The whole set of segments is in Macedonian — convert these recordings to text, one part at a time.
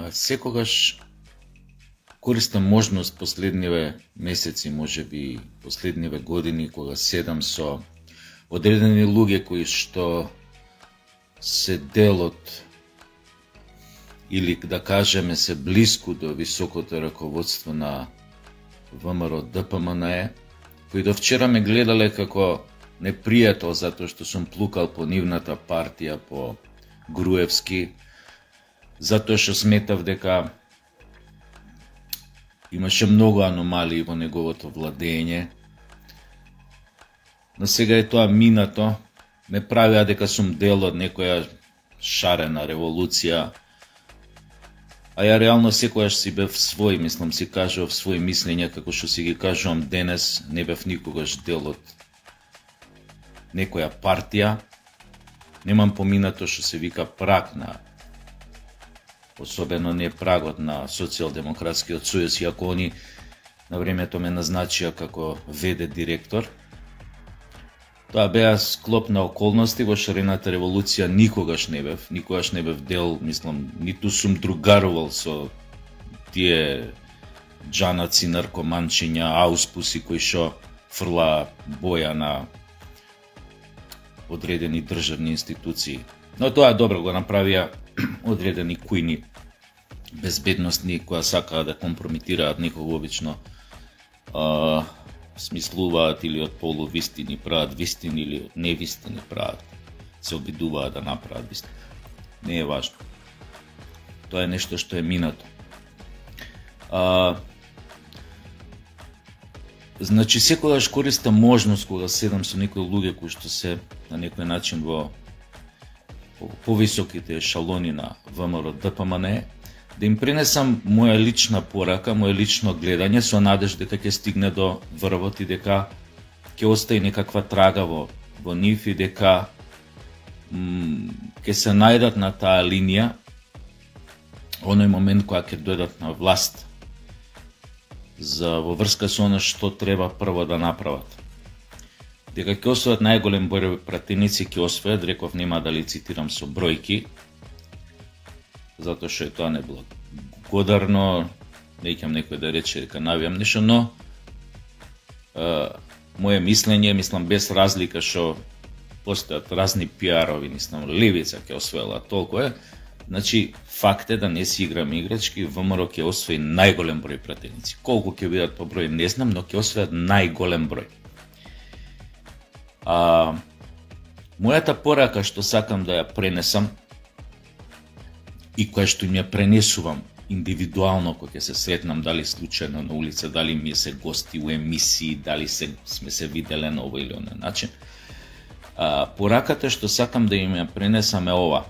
Секогаш користам можност последниве месеци, можеби последниве години, кога седам со одредени луѓе кои што се дел од, или да кажеме се блиску до високото раководство на ВМРО ДПМНЕ, кои до вчера ме гледале како непријател затоа што сум плукал по нивната партија, по Груевски, затоа што сметав дека имаше многу аномалии во неговото владење. Но сега е тоа минато, ме правиа дека сум дел од некоја шарена револуција, а ја реално секојаш си бев свој, мислам, си кажував своји мислења, како што си ги кажувам денес, не бев никогаш дел од некоја партија. Немам поминато што се вика праг на, особено не прагот на Социјалдемократскиот сојуз, иако они на времето ме назначија како ВД директор. Тоа беа склоп на околности, во шарената револуција никогаш не бев дел, мислам, ниту сум другарувал со тие џанаци, наркоманчиња, ауспуси кои што фрла боја на одредени државни институции. Но тоа добро го направија одредени кујни безбедностни кои сакаат да компрометираат некого, обично смислуваат или од полувистини прават вистини, или од невистини прават, се обидуваат да направат вистини. Не е важно. Тоа е нешто што е минато. Значи, секогаш користам можност кога седам со некои луѓе кои што се на некој начин во повисоките ешалони на ВМРО ДПМНЕ, да им пренесам моја лична порака, моја лично гледање, со надеж дека ќе стигне до врвот и дека ќе остаи некаква трага во нив и дека ќе се најдат на таа линија оној момент кога ќе дојдат на власт во врска со оно што треба прво да направат. Дека ќе освојат најголем број пратеници, ќе освојат, реков, нема да ли цитирам со бројки, затоа што е тоа неблагодарно, неќам некој да рече дека навијам нешто, но моje мислење, мислам, без разлика што постојат разни пиарови, мислам, левица ќе освоила толку е, значи факт е да не си играме играчки, ВМРО ќе освои најголем број пратеници. Колку ќе бидат по број не знам, но ќе освојат најголем број. Мојата порака што сакам да ја пренесам и која што им ја пренесувам индивидуално кога ќе се сретнам, дали случајно на улица, дали ми се гости у емисии, дали сме се виделе на овој или оној начин. Пораката што сакам да им ја пренесам е ова.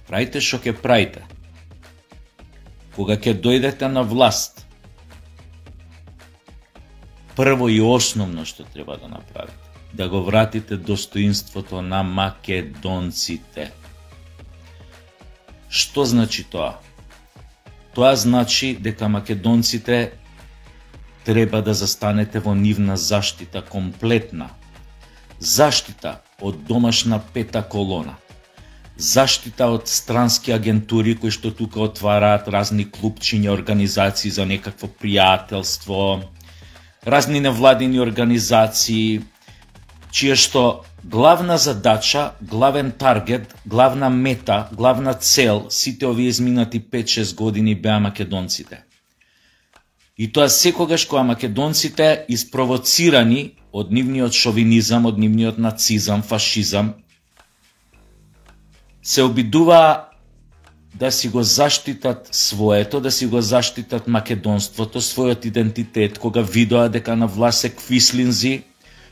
Правите што ќе правите. Кога ќе дојдете на власт, прво и основно што треба да направите, да го вратите достоинството на македонците. Што значи тоа? Тоа значи дека македонците треба да застанете во нивна заштита комплетна. Заштита од домашна пета колона. Заштита од странски агентури кои што тука отвараат разни клубчиња, организации за некакво пријателство, разни невладини организации, чија што главна задача, главен таргет, главна мета, главна цел сите овие изминати 5-6 години беа македонците. И тоа секогаш кога македонците испровоцирани од нивниот шовинизам, од нивниот нацизам, фашизам, се обидуваа да си го заштитат своето, да си го заштитат македонството, својот идентитет, кога видоа дека на власт се квислинзи,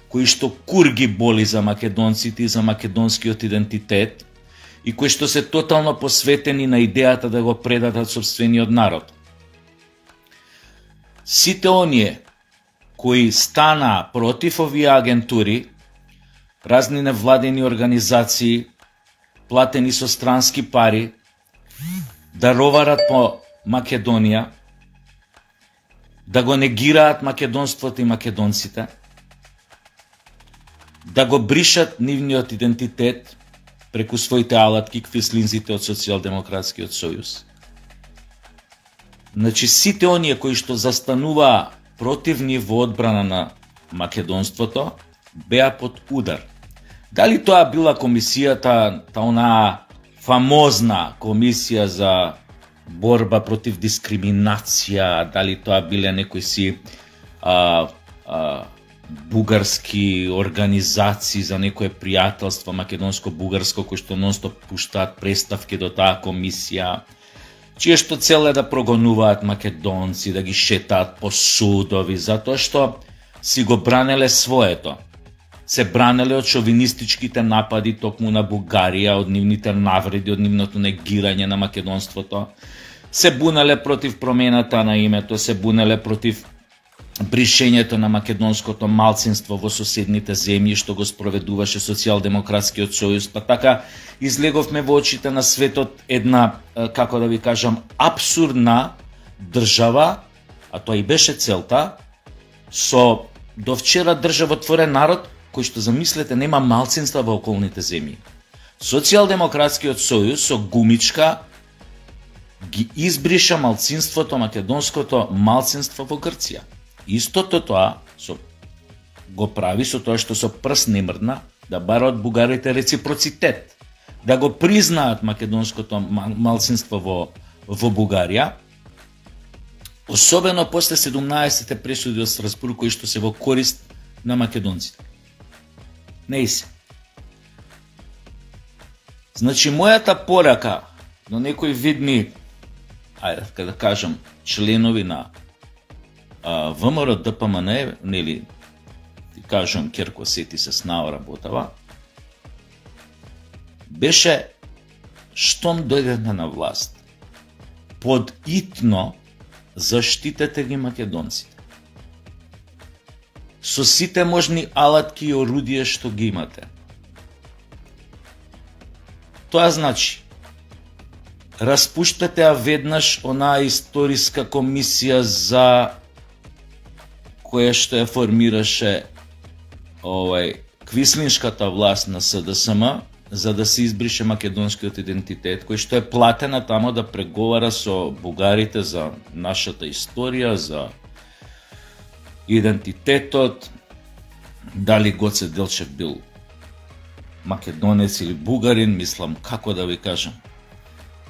кои што курги боли за македонците и за македонскиот идентитет, и кои што се тотално посветени на идејата да го предадат сопствениот народ. Сите оние кои станаа против овие агентури, разни невладени организации, платени со странски пари, да роварат по Македонија, да го негираат македонството и македонците, да го бришат нивниот идентитет, преку своите алатки квислинзите од Социјалдемократскиот сојуз. Значи, сите оние кои што застануваа против нив во одбрана на македонството, беа под удар. Дали тоа била комисијата, онаа фамозна комисија за борба против дискриминација, дали тоа биле некои си бугарски организации за некое пријателство македонско-бугарско кои што нонстоп пуштаат представки до таа комисија, чие што цел е да прогонуваат македонци, да ги шетаат по судови, затоа што си го бранеле своето. Се бранеле од шовинистичките напади токму на Бугарија, од нивните навреди, од нивното негирање на македонството. Се бунеле против промената на името, се бунеле против бришењето на македонското малцинство во соседните земји што го спроведуваше Социјалдемократскиот сојуз, па така излеговме во очите на светот една, како да ви кажам, абсурдна држава, а тоа и беше целта, со до вчера државотворен народ кој што, замислете, нема малцинства во околните земји. Социјалдемократскиот сојуз со гумичка ги избриша малцинството, македонското малцинство во Грција. Истото тоа го прави со тоа што со прст не мрдна да бара од бугарите реципроцитет, да го признаат македонското малцинство во Бугарија, особено после 17-те пресуди од Страсбург кои што се во корист на македонците. Не и се. Значи, мојата порака на некои видни, ајде да кажам, членови на ВМРО ДПМН, нели, ти кажам, Керко сети се снао работава, беше штом дојдете на власт, подитно заштитете ги македонците. Со сите можни алатки и орудија што ги имате. Тоа значи, распуштате веднаш онаа историска комисија за која што ја формираше квислиншката власт на СДСМ, за да се избрише македонскиот идентитет, кој што е платена тамо да преговара со бугарите за нашата историја, за идентитетот, дали Гоце Делчев бил македонец или бугарин, мислам, како да ви кажам.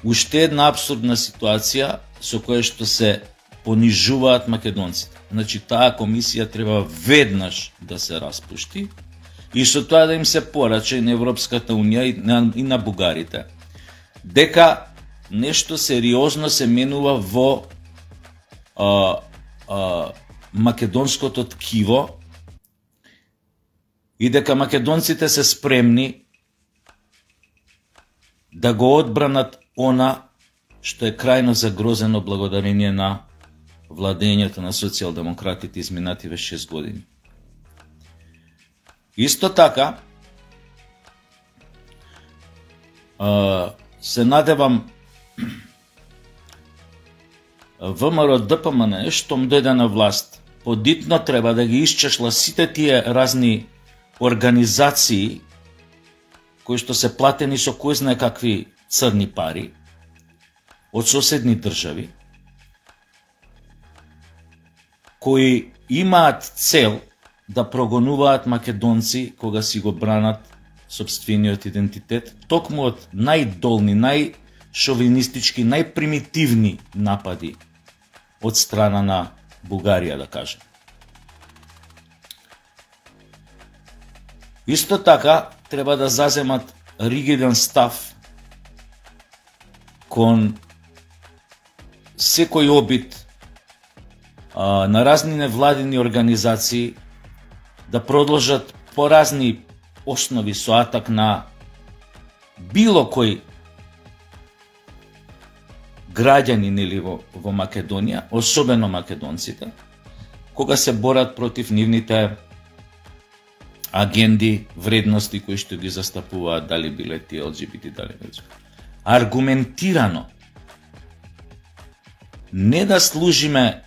Уште една абсурдна ситуација со која што се понижуваат македонците. Значи, таа комисија треба веднаш да се распушти и со тоа да им се порача и на Европската Унија и на бугарите, дека нешто сериозно се менува во македонското ткиво и дека македонците се спремни да го одбранат она што е крајно загрозено благодарение на владењето на социјалдемократите изминативе 6 години. Исто така, се надевам ВМРО ДПМН, штом дојде на власт, подитно треба да ги исчешла сите тие разни организации кои што се платени со кој знае какви црни пари од соседни држави, кои имаат цел да прогонуваат македонци кога си го бранат сопствениот идентитет, токму од најдолни, најшовинистички, најпримитивни напади од страна на Бугарија, да кажем. Исто така, треба да заземат ригиден став кон секој обид на разни невладини организации да продолжат по разни основи со атак на било кој граѓанин или во Македонија, особено македонците, кога се борат против нивните агенди, вредности кои што ги застапуваат, дали биле тие ЛГБТ, дали не. Аргументирано. Не да служиме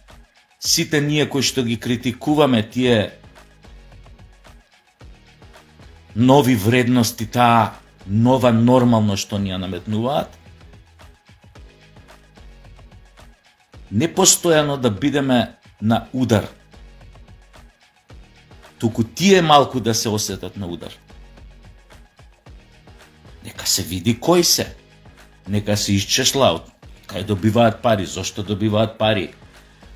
сите ние кои што ги критикуваме тие нови вредности, таа нова нормално што ни ја наметнуваат, не постојано да бидеме на удар, туку тие малку да се осетат на удар. Нека се види кои се, нека се исчеслаат, кај добиваат пари, зошто добиваат пари,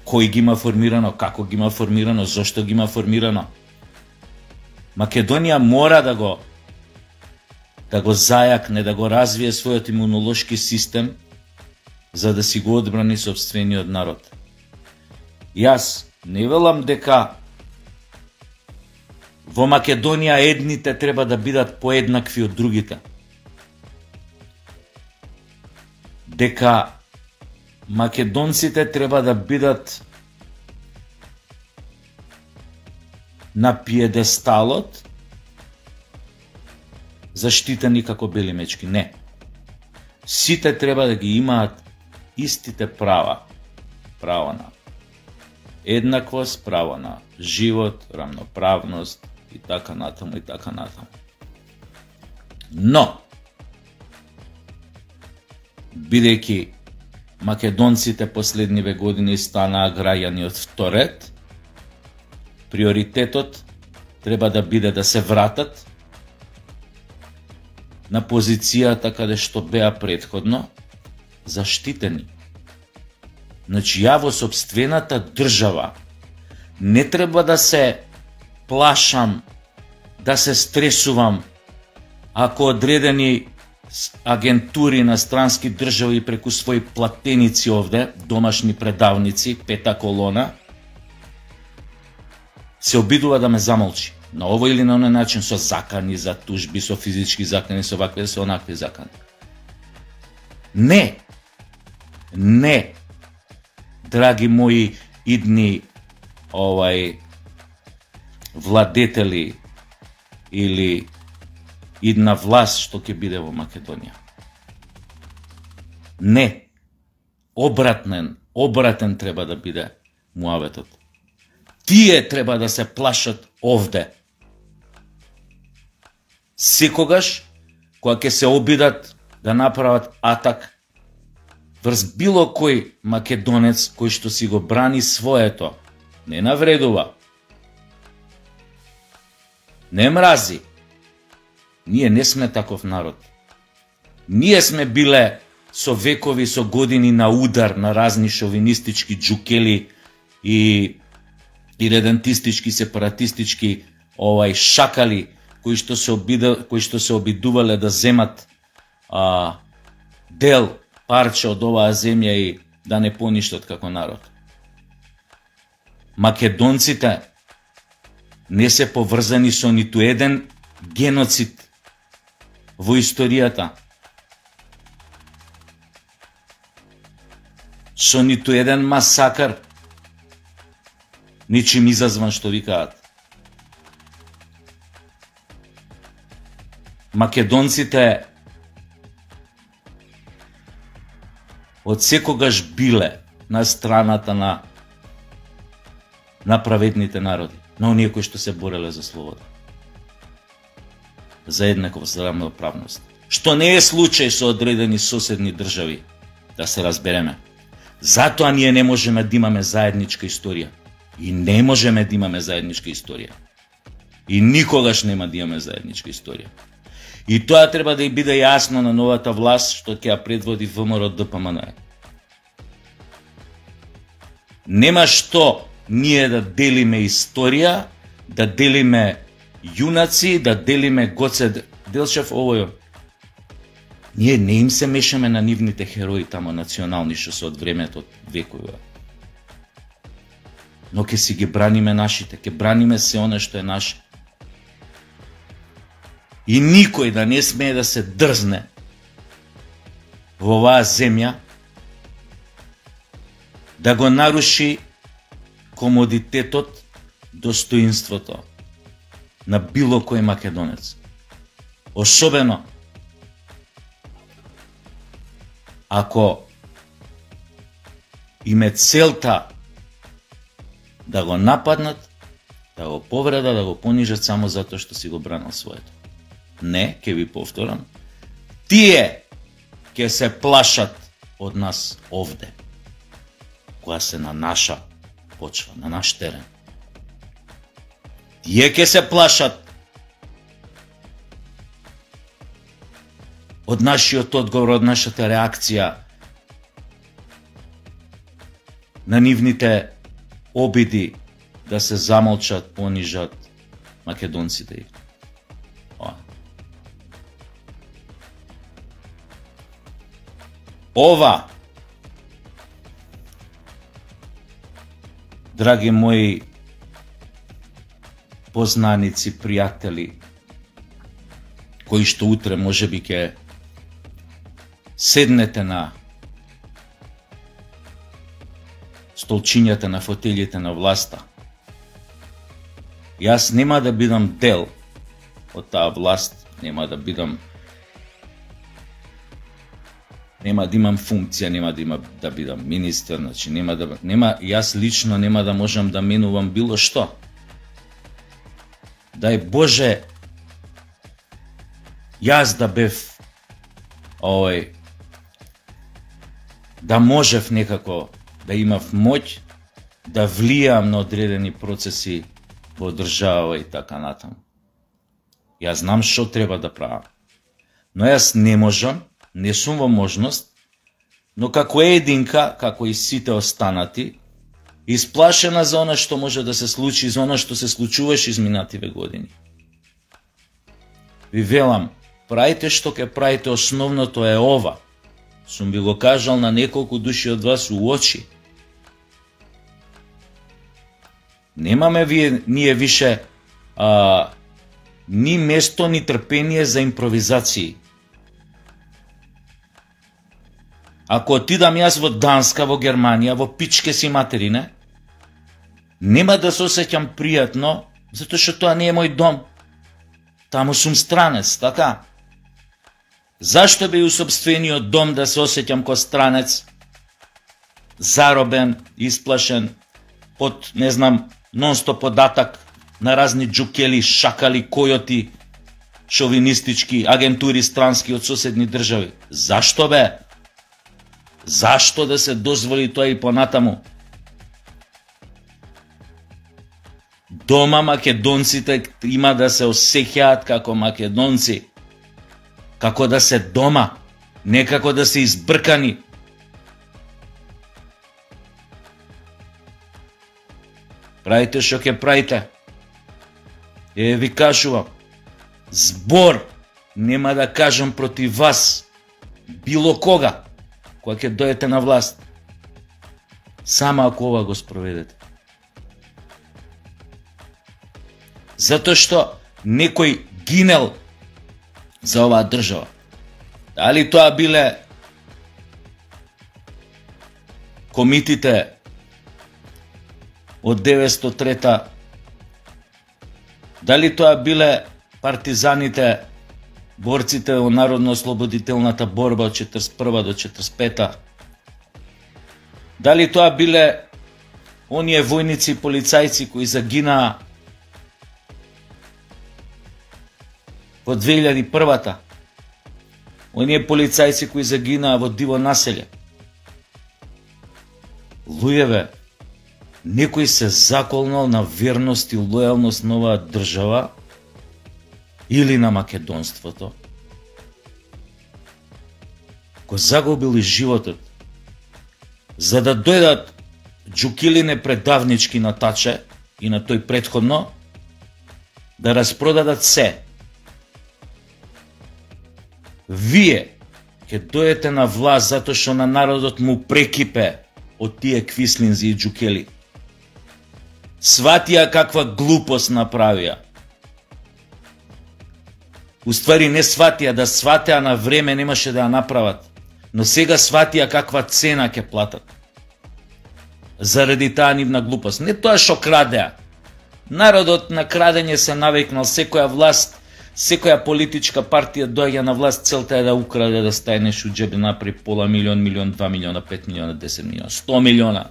кој ги има формирано, како ги има формирано, зошто ги има формирано. Македонија мора да го зајакне, да го развие својот имунолошки систем, за да си го одбрани сопствениот народ. Јас не велам дека во Македонија едните треба да бидат поеднакви од другите. Дека македонците треба да бидат на пиедесталот заштитени како бели мечки. Не. Сите треба да ги имаат истите права. Право на еднаквост, право на живот, рамноправност и така натаму и така натаму. Но, бидејќи македонците последниве години станаа граѓани од вторет, приоритетот треба да биде да се вратат на позицијата каде што беа претходно заштитени. Значи, ја во сопствената држава не треба да се плашам, да се стресувам, ако одредени агентури на странски држави преку своји платеници овде, домашни предавници, пета колона, се обидува да ме замолчи. На овој или на оној начин, со закани за тужби, со физички закани, со вакви, со онакви закани. Не, драги мои идни владетели или идна власт што ќе биде во Македонија. Не, обратен треба да биде муаветот. Тие треба да се плашат овде. Секогаш, кога ќе се обидат да направат атак врз било кој македонец кој што си го брани своето, не навредува, не мрази. Ние не сме таков народ. Ние сме биле со векови, со години на удар на разни шовинистички джукели и редентистички, сепаратистички шакали кои што се обидувале да земат дел, парче од оваа земја и да не поништат како народ. Македонците не се поврзани со ниту еден геноцид во историјата, со ниту еден масакар, ничим изазван што викаат. Македонците од секогаш биле на страната на праведните народи, на оние кои што се бореле за слобода, за еднаквост, за рамноправност. Што не е случај со одредени соседни држави, да се разбереме. Затоа ние не можеме да имаме заедничка историја. И не можеме да имаме заедничка историја. И никогаш нема да имаме заедничка историја. И тоа треба да и биде јасно на новата власт што ќе ја предводи ВМРО ДПМН. Нема што ние да делиме историја, да делиме јунаци, да делиме Гоце Делчев овој. Ние не им се мешаме на нивните херои тамо национални што се од времето векови. Но ќе си ги браниме нашите, ќе браниме се оно што е наше. И никој да не смее да се дрзне во оваа земја да го наруши комодитетот, достоинството на било кој македонец. Особено ако име целта да го нападнат, да го повредат, да го понижат само затоа што си го бранил своето. Не, ќе ви повторам, Тие ќе се плашат од нас овде, која се на наша почва, на наш терен. Тие ќе се плашат од нашиот одговор, од нашата реакција на нивните обиди да се замолчат, понижат македонците. Ова, драги мои познаници, пријатели, кои што утре можеби ќе седнете на столчињата, на фотелите на власта. Јас нема да бидам дел од таа власт, нема да имам функција, нема да бидам министер, значи јас лично нема да можам да менувам било што. Дај Боже, јас да бев да можев некако да имав моќ да влијам на одредени процеси во држава и така натаму. Јас знам што треба да правам. Но јас не можам, не сум во можност, но како единка, како и сите останати, исплашена за она што може да се случи, за она што се случуваше изминативе години. Ви велам, правите што ќе правите, основното е ова. Сум ви го кажал на неколку души од вас у очи. Немаме ние више ни место, ни трпение за импровизации. Ако отидам јас во Данска, во Германија, во пичке си материне, нема да се осеќам пријатно, затоа што тоа не е мој дом. Таму сум странец, така? Зашто би у сопствениот дом да се осеќам ко странец, заробен, исплашен, под, не знам, нон-стоп податак на разни джукели, шакали, којоти, шовинистички, агентури странски од соседни држави? Зашто бе? Зашто да се дозволи тоа и понатаму? Дома македонците има да се осеќаат како македонци, како да се дома, не како да се избркани. Правите што ќе правите. Ви кажувам, збор нема да кажам против вас, било кога, кога ќе дојдете на власт. Само ако ова го спроведете. Затоа што некој гинел за оваа држава. Дали тоа биле комитите од 903-та, дали тоа биле партизаните, борците во народно-ослободителната борба од 41 до 45-та, дали тоа биле оние војници и полицајци кои загинаа во 2001-та, оние полицајци кои загинаа во диво населје. Луѓеве, некој се заколнал на верност и лојалност на оваа држава или на македонството. Го загубил и животот, за да дојдат джукилине предавнички на Таче и на тој претходно, да распродадат се. Вие ќе дојдете на власт затоа што на народот му прекипе од тие квислинзи и джукели. Сватија каква глупост направија. Уствари не сватија, да сватеа на време немаше да ја направат, но сега сватија каква цена ќе платат. Заради таа нивна глупост. Не тоа што крадеа. Народот на крадење се навикнал, секоја власт, секоја политичка партија доаѓа на власт, целта е да украде, да стае нешто џебе, напри пола милион, милион, 2 милиона, 5 милиона, 10 милиона, 100 милиона.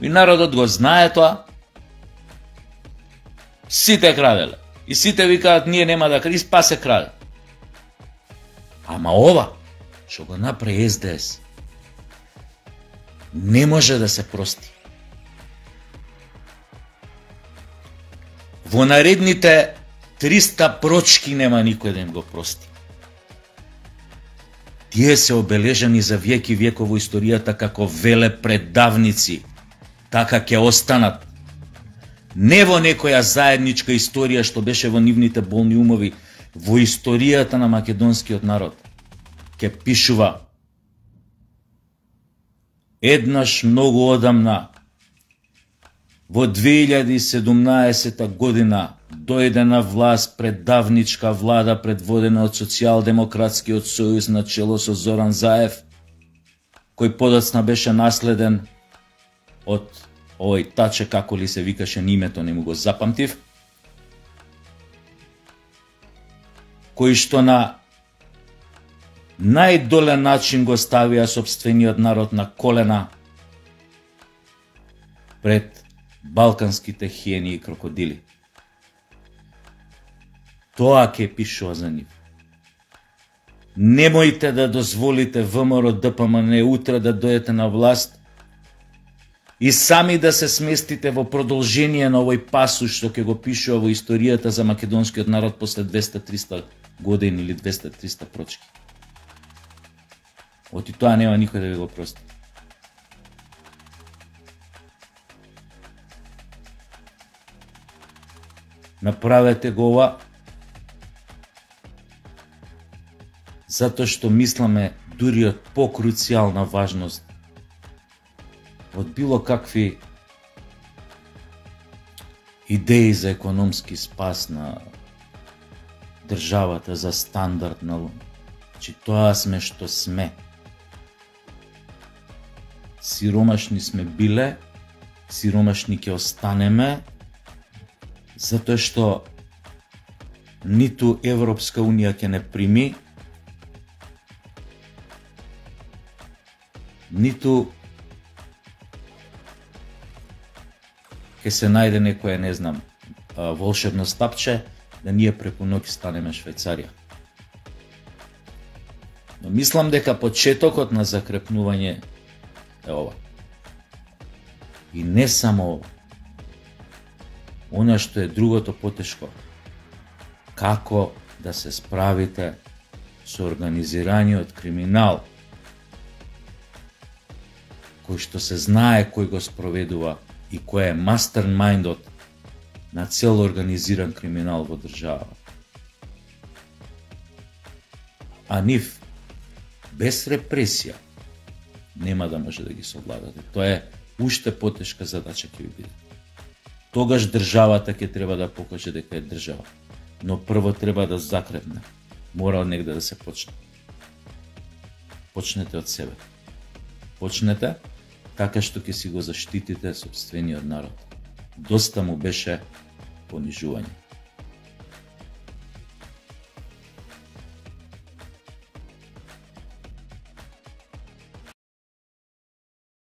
И народот го знае тоа. Сите краделе. И сите викаат, ние нема да краде, и па се краде. Ама ова, што го направи СДС, не може да се прости. Во наредните 300 прочки нема никој да им го прости. Тие се обележани за веки веков во историјата како велепредавници. Така ќе останат. Не во некоја заедничка историја што беше во нивните болни умови, во историјата на македонскиот народ. Ќе пишува: еднаш многу одамна, во 2017 година, дојде на власт предавничка влада предводена од Социјалдемократскиот сојуз на чело со Зоран Заев, кој подоцна беше наследен од овој Таче, како ли се викаше, името не му го запамтив, кој што на најдолен начин го ставија сопствениот народ на колена пред балканските хиени и крокодили. Тоа ќе пишува за нив. Немојте да дозволите ВМРО ДПМН утре да дојдете на власт и сами да се сместите во продолжение на овој пасуш што ќе го пишува во историјата за македонскиот народ после 200-300 години или 200-300 прочки. Оти тоа нема никој да ви го прости. Направете го ова затоа што мисламе дури од покруцијална важност од било какви идеи за економски спас на државата, за стандард на че тоа сме што сме. Сиромашни сме биле, сиромашни ќе останеме, затоа што ниту Европска унија ќе не прими, ниту ќе се најде некоја, не знам, волшебно стапче да ние преку ноќ станеме Швајцарија. Но мислам дека почетокот на закрепнување е ова. И не само ова. Она што е другото потешко, како да се справите со организираниот криминал, кој што се знае кој го спроведува и кој е мастермајндот на цел организиран криминал во држава. А нив, без репресија, нема да може да ги совладате. Тоа е уште потешка задача ќе ви биде. Тогаш државата ќе треба да покаже дека е држава. Но прво треба да закрепне. Мора од негде да се почне. Почнете од себе. Почнете така што ќе си го заштитите сопствениот народ. Доста му беше понижување.